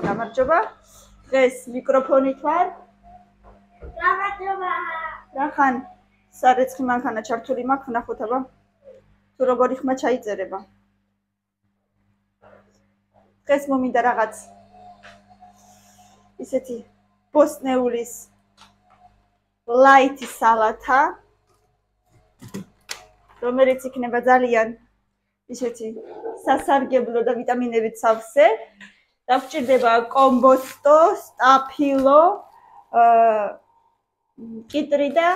გამარჯობა. დღეს მიკროფონით ვარ. გამარჯობა. რახან სარეცხი მანქანა ჩართული მაქვს, ნახოთ აბა. თუ როგორი ხმა ჩაიწერება. დღეს მომინდა რაღაც ისეთი ბოსნეულის ლაითი სალათა, რომელიც იქნება ძალიან ისეთი სასარგებლო და ვიტამინებით სავსე. დაგჭირდება კომბოსტო, სტაფილო, კიტრი და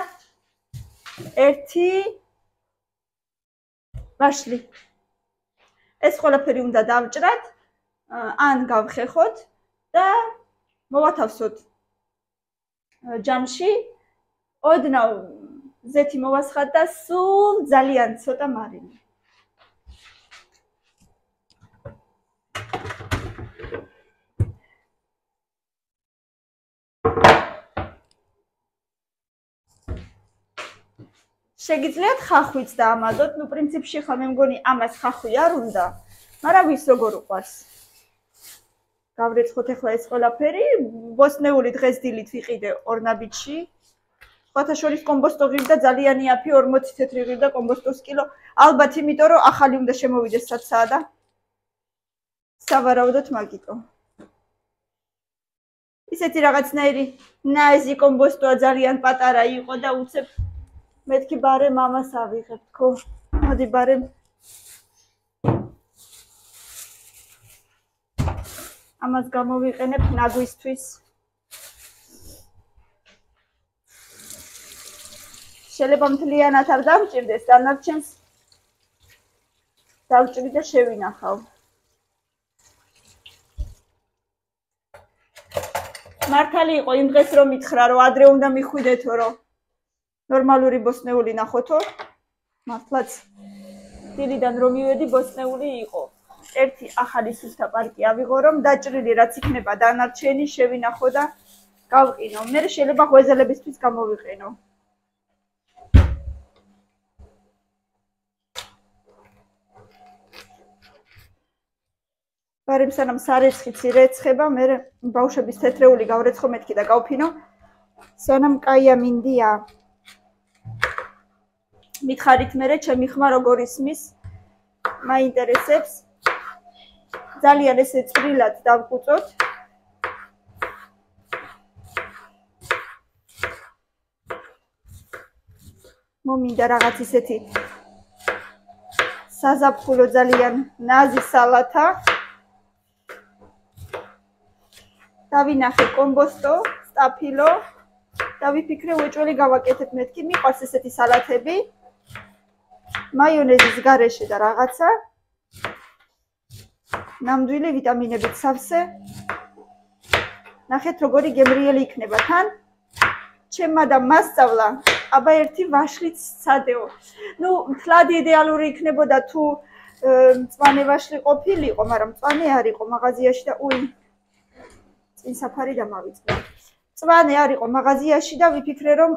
ერთი ვაშლი. ეს ყველაფერი უნდა დავჭრათ, ან გავხეხოთ და მოვათავსოთ ჯამში. ოდნავ ზეთი მოვასხათ და სულ ძალიან ცოტა მარილი. შეგიძლიათ ხახვიც დაამაზოთ, პრინციპში ხა მე მგონი ამას ხახვი არ უნდა, მაგრამ ვის როგორ უყვარს. გავრეცხოთ ახლა ეს ყველაფერი, ბოსნეული დღეს დილით ვიყიდე ორნაბიჯში. სხვათა შორის კომბოსტო ღირდა ძალიან იაფი, 40 თეთრი ღირდა კომბოსტოს კილო. ალბათ იმიტომ რომ ახალი უნდა შემოვიდეს რაც საადა. სავარაუდოდ მაგიტო. ისეთი რაღაცნაირი ნაიზი კომბოსტოა, ძალიან პატარა იყო და უცებ მეთქი ბარე მამას ავიღებ თქო. მოდი ბარე ამას გამოვიყენებ ნაგვისთვის. შეიძლება მთლიანად არ დავჭირდეს, დანარჩენს დავჭრი და შევინახავ. მართალი იყო იმ დღეს რომ მითხრა რომ ადრე უნდა მიხვიდეთო რომ ნორმალური ბოსნეული ნახოთო. მართლაც დილიდან რომ მივედი ბოსნეული იყო. ერთი ახალი სუსტა პარკი ავიღო რომ დაჭრილი რაც იქნება დანარჩენი შევინახო და გავყინო. მე შეიძლება ღვეზელებისთვის გამოვიყენო. ბარემ სანამ სარეცხიც ირეცხება, მე ბავშვების თეთრეული გავრეცხო მეთქი და გავფინო. სანამ კაია მინდია. მითხარით მე ჩემი ხმა როგორ ისმის, მაინტერესებს. ძალიან ესე წვრილად დავკუწოთ. მომინდა რაღაც ისეთი საზაფხულო ძალიან ნაზი სალათა. დავინახე კომბოსტო, სტაფილო და ვიფიქრე უეჭველი გავაკეთებ მეთქი. მიყვარს ესეთი სალათები. მაიონეზის გარეშე და რაღაცა. ნამდვილი ვიტამინებით სავსე. ნახეთ როგორი გემრიელი იქნება თან. ჩემმა და მასწავლა, აბა ერთი ვაშლიც სცადეო. ნუ მთლად იდეალური იქნებოდა თუ მწვანე ვაშლი ყოფილიყო, მაგრამ მწვანე არ იყო მაღაზიაში და წინ საფარი დამავიწყდა. მწვანე არ იყო მაღაზიაში და ვიფიქრე რომ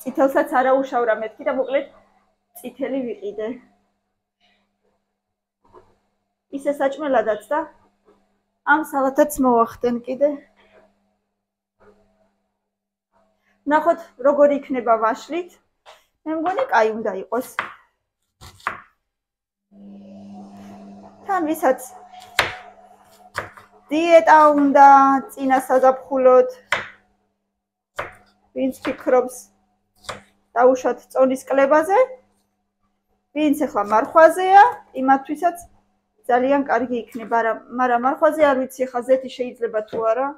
წითელსაც არა უშავრა მეთქი და მოკლედ წითელი ვიყიდე. ისე საჭმელადაც და ამ სალათაც მოვახდენ კიდე. ნახოთ როგორი იქნება ვაშლით. მე მგონი კაი უნდა იყოს. თან ვისაც დიეტა უნდა წინა საზაფხულოდ. ვინც ფიქრობს დაუშვათ წონის კლებაზე, ვინც ახლა მარხვაზეა, იმათთვისაც ძალიან კარგი იქნება, მაგრამ მარხვაზე არ ვიცი ახლა ზეთი შეიძლება თუ არა.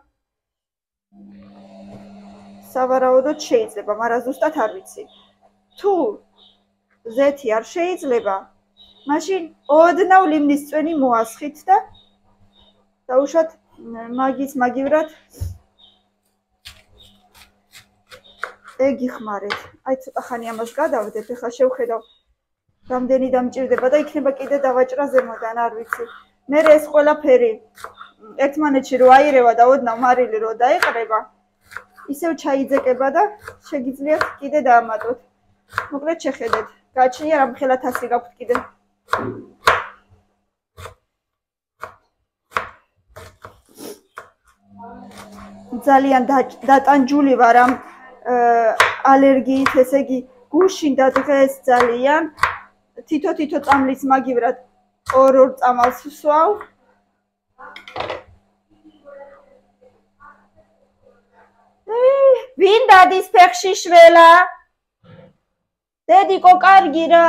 სავარაუდოდ შეიძლება, მაგრამ ზუსტად არ ვიცი. თუ ზეთი არ შეიძლება, მაშინ ოდნავ ლიმნის წვენი მოასხით და დაუშვათ მაგივრად ეგიხმარეთ. აი ცოტა ხანი ამას გადავდეთ, ახლა შევხედავ რამდენი დამჭირდება და იქნება კიდე დავაჭრა ზემოდან, არ ვიცი. მე ეს ყველაფერი ერთმანეთში რო აირევა და ოდნავ მარილი რო დაეყრება, ისევ ჩაიძეკება და შეგიძლიათ კიდე დაამატოთ. მოკლედ შეხედეთ. გააჩნია რამხელა თასი გაქვთ კიდე. ძალიან დატანჯული ვარ ამ ალერგიით, ესე იგი გუშინდა დღეს ძალიან თითო წამლის მაგივრად ორ წამალს ვსვავ. ვინ დადის ფეხში შველა? დედიკო კარგი რა.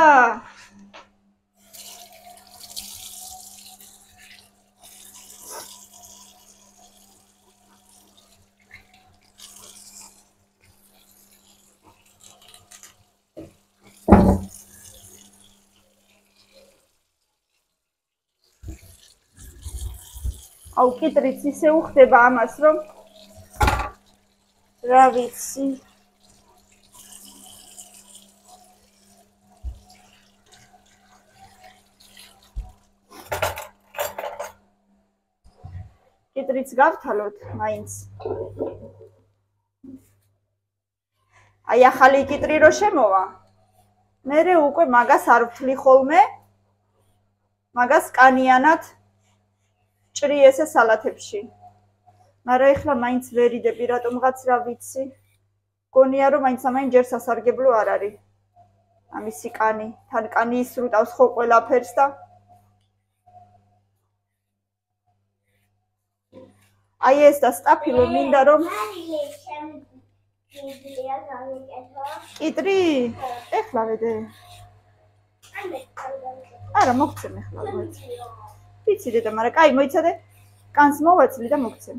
აუ კიტრიც ისე უხდება ამას რომ რა ვიცი კიტრიც გავთვალოთ მაინც აი ახალი კიტრი რო შემოვა მერე უკვე მაგას არ ვთვლი ხოლმე მაგას კანიანად ჭრი ესე სალათებში მაგრამ ეხლა მაინც ვერიდები რატომღაც რა ვიცი გონია რომ მაინც ამაინ ჯერ სასარგებლო არ არის ამისი კანი თან კანი ისრუტავს ხო ყველაფერს და აი ეს და სტაფილო მინდა რომ კიტრი ეხლა ვედე არა მოგცემ ეხლა ვიცი დედა მაგრამ კაი მოიცადე კანს მოვაცლი და მოგცემ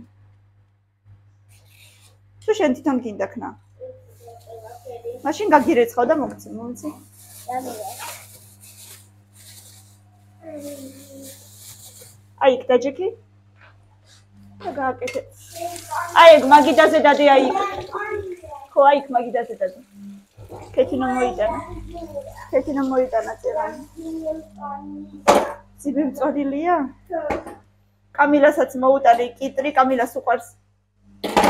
თუ შენ თვითონ გინდა ქნა მაშინ გაგირეცხავ და მოგცემ მომიცი აი იქ დაჯექი და გააკეთე აი ეგ მაგიდაზე დადე აი ხო აი იქ მაგიდაზე დადე ქეთინო მოიტანა წერანი ციბი მწოდილია კამილასაც მოუტანე კიტრი კამილას უყვარს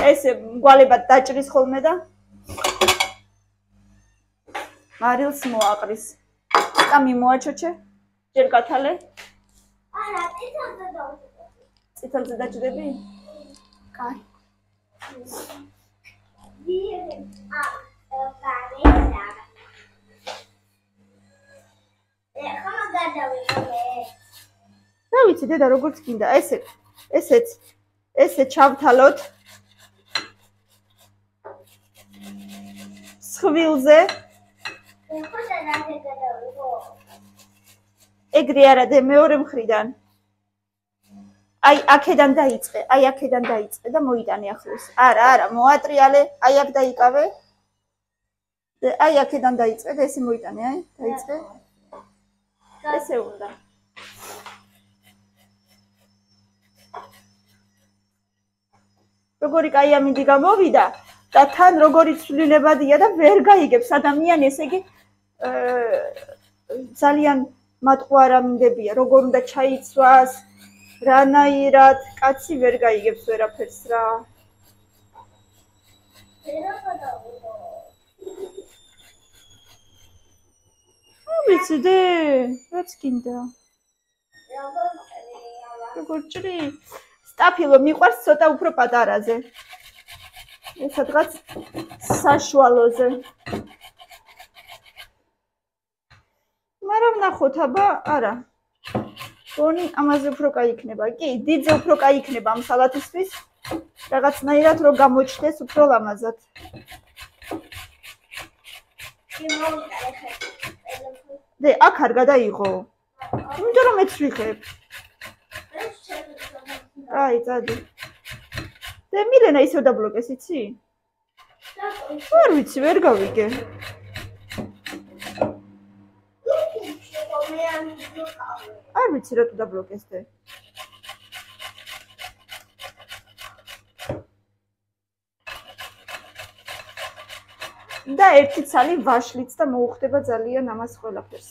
ესე მგვალებად დაჭრის ხოლმე და მარილს მოაყრის კამი მოაჩოჩე ჯერ გათალე არა წითელზე დაჭრები კაი რა ვიცი დედა როგორც გინდა ესე ჩავთალოთ სხვილზე ეგრე არა და მეორე მხრიდან აი აქედან დაიწყე და მოიტანე ახლოს არა მოატრიალე აი აქ დაიკავე აი აქედან დაიწყე და ესე მოიტანე აი დაიწყე ესე უნდა როგორი კაი ამინდი გამოვიდა და თან როგორი ცვლილებადია და ვერ გაიგებს ადამიანი ესე იგი ძალიან მატყუარა მინდებია როგორ უნდა ჩაიცვას რანაირად კაცი ვერ გაიგებს ვერაფერს რა ვიცი დე რაც გინდა როგორ ჭრი სტაფილო მიყვარს ცოტა უფრო პატარაზე ეს სადღაც საშუალოზე მაგრამ ნახოთ აბა არა გონი ამაზე უფრო კაი იქნება კი დიდზე უფრო კაი იქნება ამ სალათისთვის რაღაცნაირად რო გამოჩნდეს უფრო ლამაზად დე აქ არ გადაიღო იმიტომ რომ მეც ვიხებ აი წადი და მილენა ისევ დაბლოკეს იცი არ ვიცი ვერ გავიგე არ ვიცი რა თუ დაბლოკეს და და ერთი ცალი ვაშლიც და მოუხდება ძალიან ამას ყველაფერს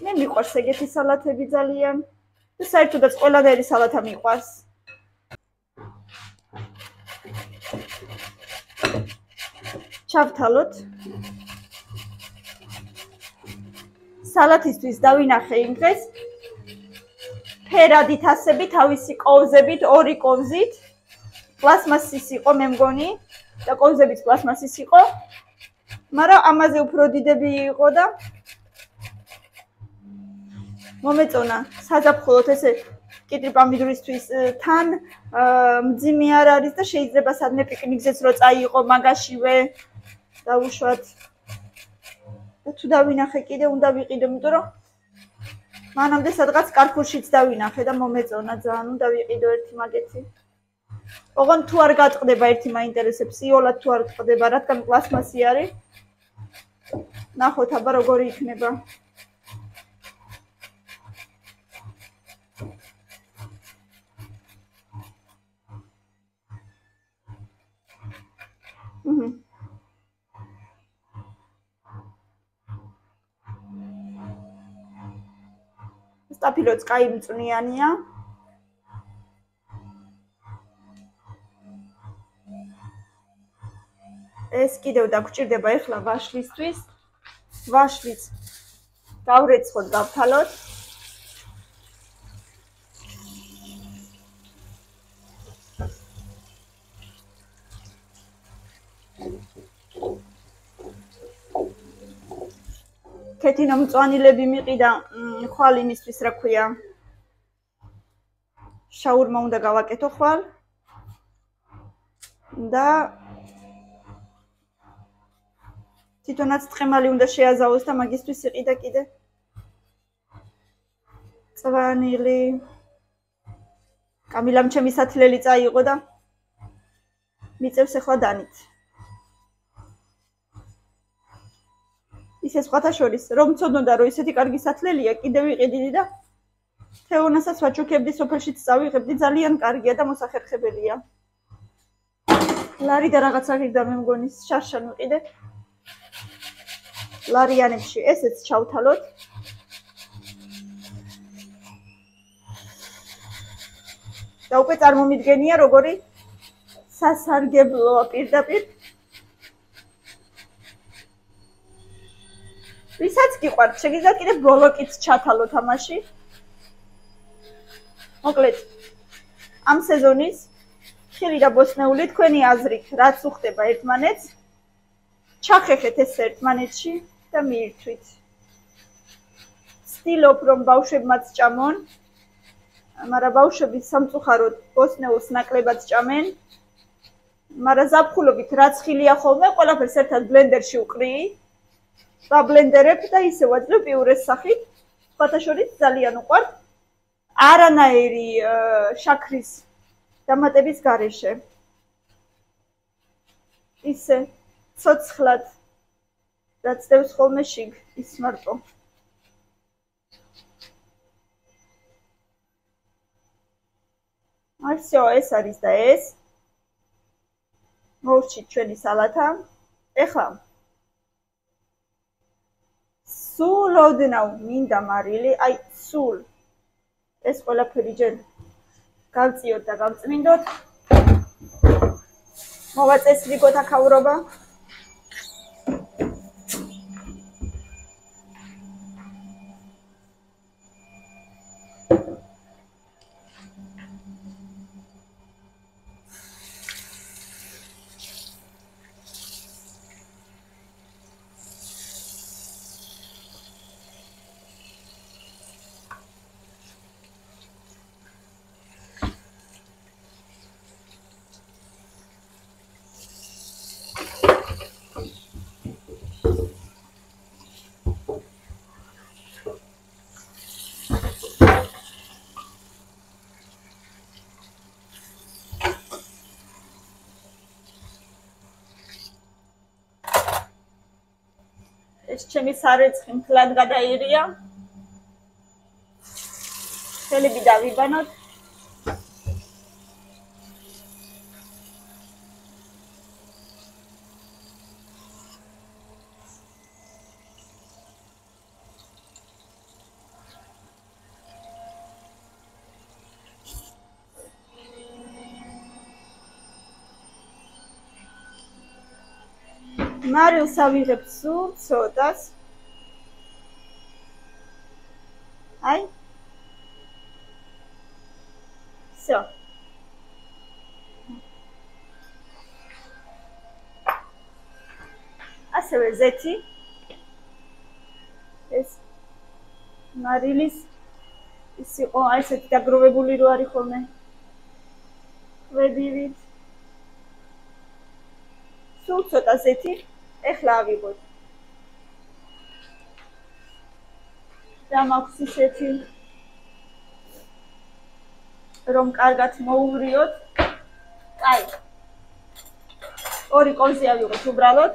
მე მიყვარს ეგეთი სალათები ძალიან და საერთოდაც ყველანაირი სალათა მიყვარს ჩავთალოთ სალათისთვის დავინახე იმ დღეს ფერადით ასები თავისი კოვზებით ორი კოვზით პლასმასის იყო მე მგონი და კოვზებიც პლასმასის იყო. მაგრამ ამაზე უფრო დიდები იყო და მომეწონა საზაფხულოთ ესე კიტრი პამიდურისთვის თან მძიმე არ არის და შეიძლება სადმე პიკნიკზეც რო წაიყო მაგაშივე დავუშვათ. და თუ დავინახე კიდე უნდა ვიყიდო, იმიტომ რომ მანამდე სადღაც კარფურშიც დავინახე და მომეწონა ძალიან უნდა ვიყიდო ერთი მაგეთი. ოღონდ თუ არ გატყდება ერთი მაინტერესებს, იოლად თუ არ ტყდება, რადგან პლასმასი არის. ნახოთ აბა როგორი იქნება. სტაფილოც კაი მწვნიანია. ეს კიდევ დაგჭირდება ეხლა ვაშლისთვის. ვაშლიც გავრეცხოთ, გავთვალოთ. კეთინო მწვანილები მიყიდა ხვალ იმისთვის რა ქვია. შაურმა უნდა გავაკეთო ხვალ. და თვითონაც თხემალი უნდა შეაზავოს და მაგისთვის იყიდა კიდე წვანილი. კამილამ ჩემი სათლელი წაიღო და მიწევს ახლა დანით. ისე სხვათა შორის რომ მცოდნოდა რომ ისეთი კარგი სათლელია, კიდე ვიყიდიდი და თეონასაც ვაჩუქებდი, სოფელშიც წავიღებდი, ძალიან კარგია და მოსახერხებელია. ლარი და რაღაცა ღირდა მე მგონი შარშან ვიყიდე. ლარიანებში ესეც ჩავთვალოთ. და უკვე წარმომიდგენია როგორი სასარგებლოა პირდაპირ. ვისაც გიყვართ, შეგიძლიათ კიდე ბოლოკიც ჩათვალოთ ამაში. მოკლედ, ამ სეზონის ხილი და ბოსტნეული თქვენი აზრით რაც უხდება ერთმანეთს, ჩახეხეთ ეს ერთმანეთში და მიირთვით. ვცდილობ რომ ბავშვებმაც ჭამონ, მაგრამ ბავშვები სამწუხაროდ ბოსტნეულს ნაკლებად ჭამენ. მაგრამ ზაფხულობით რაც ხილია ხოლმე, ყველაფერს ერთად ბლენდერში უყრიი. ვაბლენდერებ და ისე ვაძლევ პიურეს სახით. სხვათა შორის ძალიან უყვართ. არანაირი შაქრის დამატების გარეშე. ისე ცოცხლად რაც დევს ხოლმე შიგ ის მარტო. აი всё, ეს არის და ეს. მოვჭით ჩვენი სალათა. ეხლა სულ ოდნავ მინდა მარილი, აი სულ ეს ყველაფერი ჯერ გავწიოთ და გავწმინდოთ. მოვაწესრიგოთ აქაურობა. ეს ჩემი სარეცხი მთლად გადაიღია. ხელები დავიბანოთ. მარილს ავიღებ სულ ცოტას. აი. всё. ასევე ზეთი. ეს მარილის ის იყო აი ესეთი დაგროვებული რო არის ხოლმე. ვედივით. სულ ცოტა ზეთი. ეხლა ავიღოთ. და მაქვს ისეთი რომ კარგად მოუმრიოთ. აი. ორი კოლზი ავიღოთ უბრალოდ.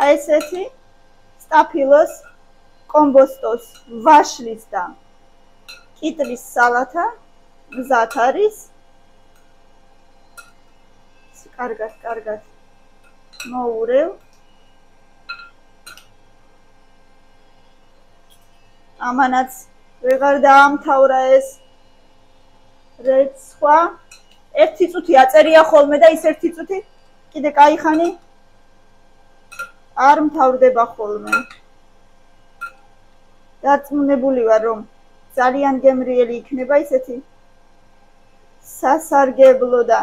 აი ესეთი სტაფილოს, კომბოსტოს, ვაშლის და კიტრის სალათა მზად არის. კარგად მოურევ. ამანაც ვეღარ დაამთავრა ეს რეც სხვა. ერთი წუთი აწერია ხოლმე და ის ერთი წუთი კიდე кайხანი არ მთავრდება ხოლმე. დარწმუნებული ვარ რომ ძალიან გემრიელი იქნება ისეთი სასარგებლო და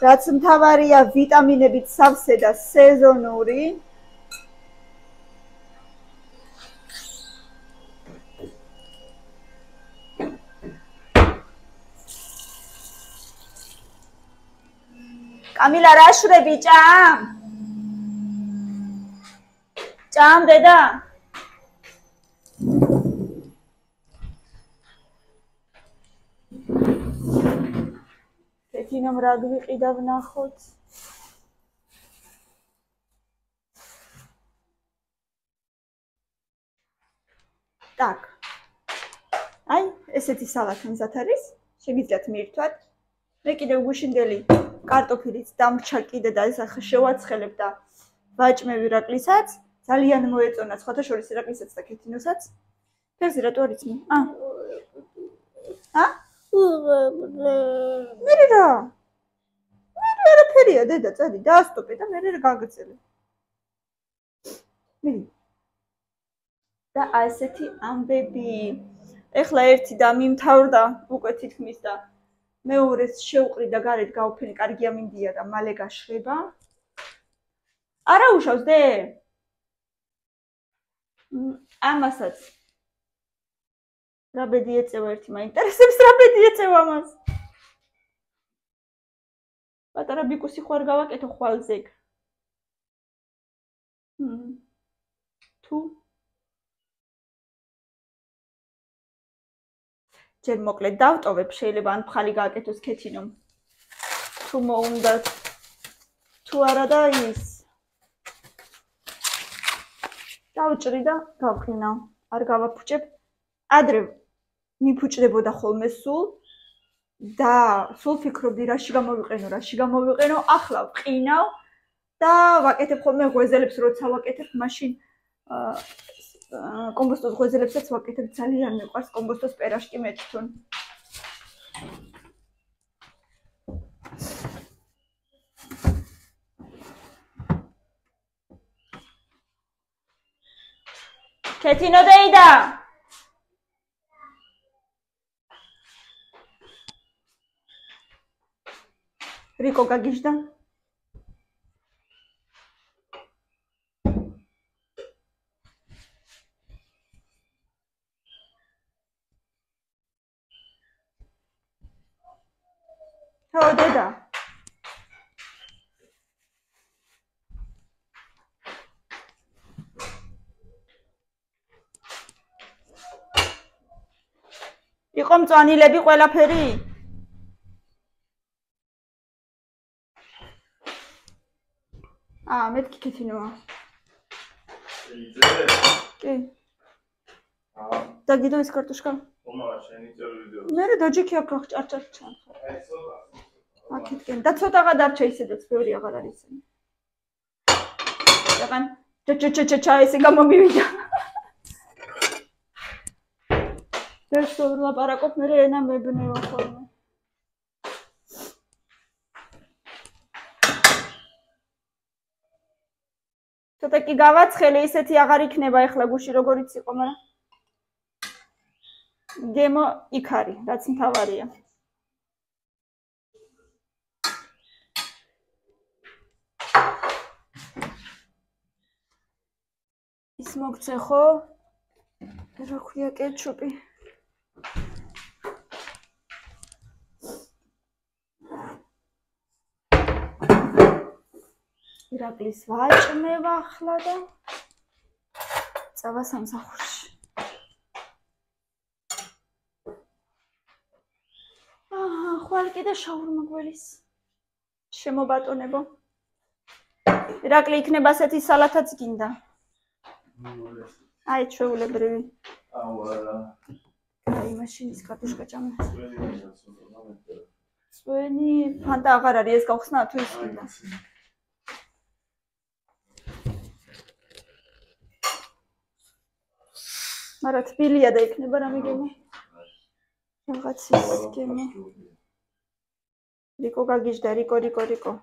რაც მთავარია ვიტამინებით სავსე და სეზონური. კამილა რა შვრები ჭამ? ჭამ დედა? თინამ რა გვიყიდა ვნახოთ. так. აი, ესეთი სალათა მზად არის. შეგიძლიათ მიირთვათ. მე კიდევ გუშინდელი კარტოფილიც დამრჩა კიდე და ეს ახლა შევაცხელებ და ვაჭმევ ირაკლისაც. ძალიან მოეწონა სხვათა შორის ირაკლისაც და ქეთინოსაც. ფერზე რატო არ იცმი? მერე რა? მერე არაფერია დედა, წადი, დაასტოპე და მერე გაგრძელე. მიდი. და ასეთი ამბები. ეხლა ერთი და მიმთავრდა უკვე თითქმის და მეორეს შევყრი და გარეთ გავფენი, კარგი ამინდია და მალე გაშრება. არა უშავს დე? ამასაც რა ბედი ეწევა ერთი მაინტერესებს რა ბედი ეწევა მას. პატარა ბიკუსი ხوار გავაკეთო ხვალზეგ. თუ ჯერ მოკლედ დავტოვებ, შეიძლება ან ფხალი გააკეთოს ქეთინომ. თუ მოუნდათ. თუ არა და ის. დავჭრი და გავყინავ. არ გავაფუჭებ. ადრე მიფუჭდებოდა ხოლმე სულ და სულ ფიქრობდი რაში გამოვიყენო, ახლა ვყინავ და ვაკეთებ ხოლმე ღვეზელებს, როცა ვაკეთებ, მაშინ კომბოსტოს ღვეზელებსაც ვაკეთებ, ძალიან მიყვარს კომბოსტოს პერაშკი მე თვითონ. ქეთინო დეიდა რიკო გაგიჟდა? ხო დედა. იყო მწვანილები ყველაფერი? მეთქი ქეთინოა. კი. და გიდო ეს კარტოშკა? მერე დაჯიქი აქ ჭარჭარ ჩანხარ. აქეთკენ და ცოტაღა დარჩა ისედაც ბევრი აღარ არის. დაგან ჩა ესე გამომივიდა. ეს ლაპარაკობ მერე ენა მებნევა ხოლმე. ცოტა კი გავაცხელე, ისეთი აღარ იქნება ეხლა გუში როგორიც იყო, მაგრამ გემო იქ არის, რაც მთავარია. ის მოგცე ხო? რა ქვია კეჩუპი? ირაკლის ვაჭმევა ახლა და წავა სამსახურში. ხვალ კიდე შაურმა გველის. შემობატონებო. ირაკლი იქნება ასეთი სალათაც გინდა. აი ჩვეულებრივი. აი მაშინის კარტოშკა ჭამე. წვენი ფანტა აღარ არის ეს გავხსნა თუ ის გინდა. მაგრამ თბილია და იქნება რამე გემო. რაღაც ის გემო. რიკო გაგიჟდა, რიკო.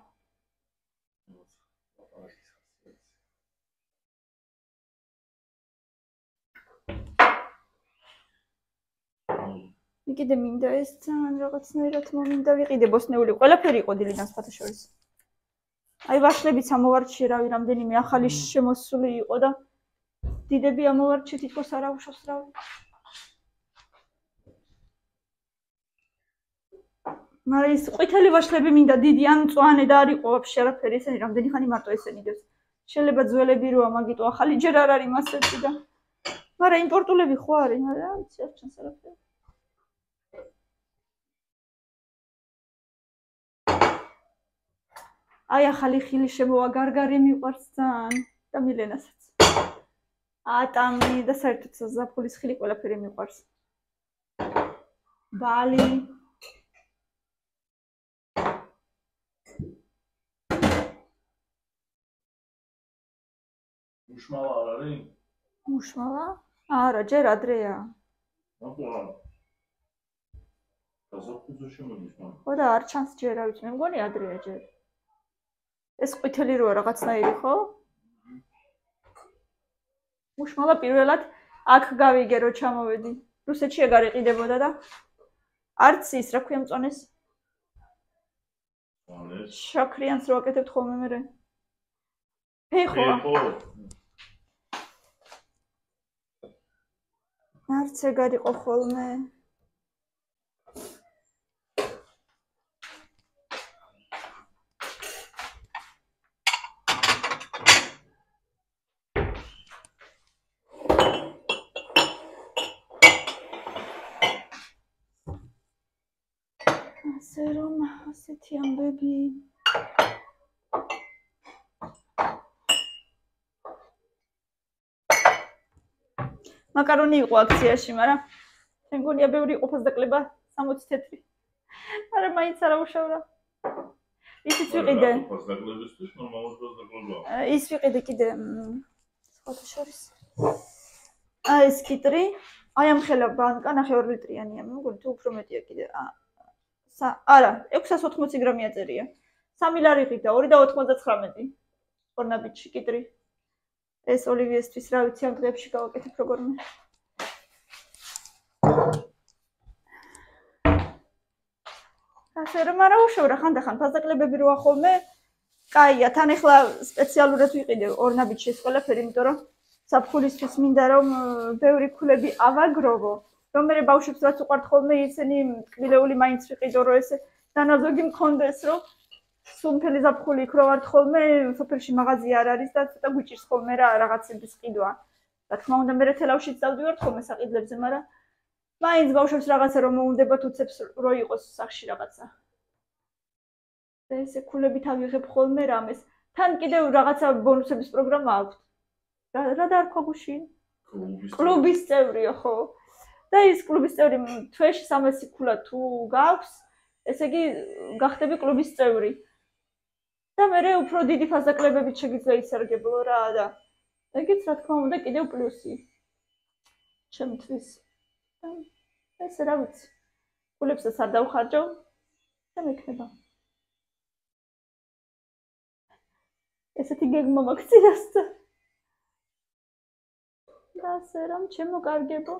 კიდე მინდა ეს ძალიან რაღაცნაირად მომინდა ვიყიდე ბოსნეული ყველაფერი იყო დილიდან სხვათა შორის. აი ვაშლებიც ამოვარჩიე რავი რამდენიმე ახალი შემოსული იყო და დიდები ამოვარჩიე თითქოს არ აუშვას რავი. მაგრამ ის ყვითელი ვაშლები მინდა დიდი ან მწვანე და არ იყო ვაფშე არაფერი ესენი რამდენი ხანი მარტო ესენი დევს. შეიძლება ძველები როა მაგიტო ახალი ჯერ არ არის მასეთი და მაგრამ იმპორტულები ხო არის, მაგრამ არ ვიცი არ ჩანს არაფერი. აი ახალი ხილი შემოვა გარგარი მიყვარს ძალიან და მილენასაც. ატამი და საერთოდ ზაფხულის ხილი ყველაფერი მიყვარს. ბალი მუშმალა არ არის? მუშმალა? არა, ჯერ ადრეა. აბა. გაზაფხულზე მუშმალა. ხო და არ ჩანს ჯერ, რა ვიცი, მე მგონი ადრეა ჯერ. ეს ყვითელი როა რაღაცნაირი, ხო? მუშმალა პირველად აქ გავიგე რო ჩამოვედი. რუსეთში ეგ არ იყიდებოდა და არც ის რა ქვია მწონეს. შაქრიანს რო აკეთებთ ხოლმე მე. ფეხო. არც ეგ არ იყო ხოლმე. ასე რომ ასეთი ამბები. მაკარონი იყო აქციაში, მაგრამ მე მგონია ბევრი ყოფას დაკლება 60 თეთრი. მაგრამ მაინც არ აუშავრა. ისიც ვიყიდე. ყოფას დაკლებისთვის ნორმალურად დაკლებაა. ის ვიყიდე კიდე სხვათა შორის. აი ეს კიტრი, აი ამ ხელა ბანკა 9 ლიტრიანია, მე მგონი თუ უფრო მეტია კიდე. არა, 680 გრამია წერია. 3 ლარი ყიდა, 2.99. ორნაბიჯი კიტრი. ეს ოლივიესთვის რა ვიცი ამ დღეებში გავაკეთებ როგორმე. ასე რომ არა უშევრა ხანდახან ფასდაკლებები როა ხოლმე. კაია, თან ახლა სპეციალურად ვიყიდე ორნაბიჯი ეს ყველაფერი, იმიტომ რომ საფხულისთვის მინდა რომ ბევრი ქულები ავაგროვო. რომ მე ბავშვებს რაც უყვართ ხოლმე ისინი ტკბილეული მაინც ვიყიდო რომ ესე დანაზოგი მქონდეს რომ სულ მთელი ზაფხული იქ რო ვართ ხოლმე სოფელში მაღაზია არ არის და ცოტა გვიჭირს ხოლმე რა რაღაცების ყიდვა. რა თქმა უნდა მე თელავშიც დავდივართ ხოლმე საყიდლებზე, მაგრამ მაინც ბავშვებს რაღაცა რომ მოუნდებათ უცებს რო იყოს სახში რაღაცა. და ესე ქულებით ავიღებ ხოლმე რამეს. თან კიდევ რაღაცა ბონუსების პროგრამა აქვს. რა დაარქვა გუში? კლუბის წევრია ხო? და ის კლუბის წევრი თვეში 300 ქულა თუ გაქვს, ესე იგი გახდები კლუბის წევრი. და მე უფრო დიდი ფასდაკლებებით შეგიძლია ისარგებლო რა და ეგეც რა თქმა უნდა კიდევ პლუსი. ჩემთვის. ესე რა ვიცი. ქულებსაც არ დავხარჯავ და მექნება. ესეთი გეგმა მაქვს წინასწარ. და ასე რომ ჩემო კარგებო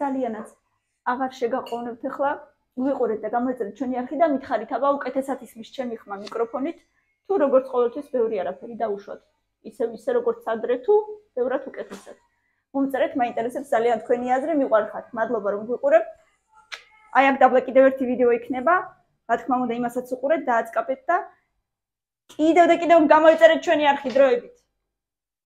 ძალიანაც აღარ შეგაყოვნებთ ახლა ვიყურეთ და გამოიწერეთ ჩვენი არხი და მითხარით აბა უკეთესად ისმის ჩემი ხმა მიკროფონით თუ როგორც ყოველთვის ბევრი არაფერი დაუშვათ ისე როგორც ადრე თუ ბევრად უკეთესად მომწერეთ მაინტერესებს ძალიან თქვენი აზრი მიყვარხართ მადლობა რომ გვიყურებთ აი აქ დაბლა კიდევ ერთი ვიდეო იქნება რა თქმა უნდა იმასაც უყურეთ დააწყაპეთ და კიდევ და კიდევ გამოიწერეთ ჩვენი არხი დროებით